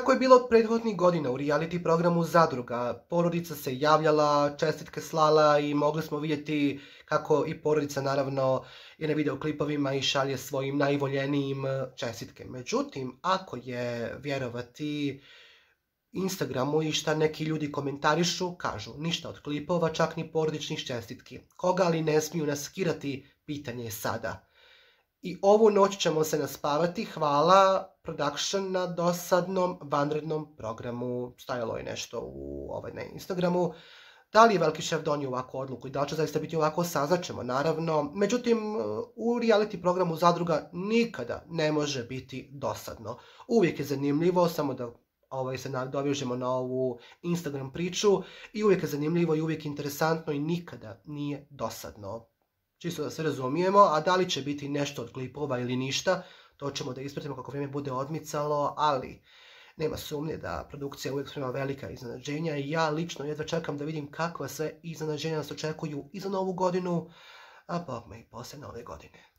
kako je bilo prethodnih godina u reality programu Zadruga. Porodica se javljala, čestitke slala i mogli smo vidjeti kako i porodica naravno je na videoklipovima i šalje svojim najvoljenijim čestitke. Međutim, ako je vjerovati Instagramu i šta neki ljudi komentarišu, kažu ništa od klipova, čak ni porodičnih čestitki. Koga li ne smiju naskirati, pitanje je sada. I ovu noć ćemo se naspavati, hvala production na dosadnom vanrednom programu. Stajalo je nešto na Instagramu. Da li je Veliki šef donio ovakvu odluku i da li će zaista biti ovako, saznaćemo naravno. Međutim, u reality programu Zadruga nikada ne može biti dosadno. Uvijek je zanimljivo, samo da se nadovežemo na ovu Instagram priču, i uvijek je zanimljivo i uvijek interesantno i nikada nije dosadno. Čisto da se razumijemo, a da li će biti nešto od klipova ili ništa, to ćemo da ispratimo kako vrijeme bude odmicalo, ali nema sumnje da produkcija uvijek sprema velika iznenađenja i ja lično jedva čekam da vidim kakva sve iznenađenja nas očekuju i za novu godinu, a bogme i poslije nove godine.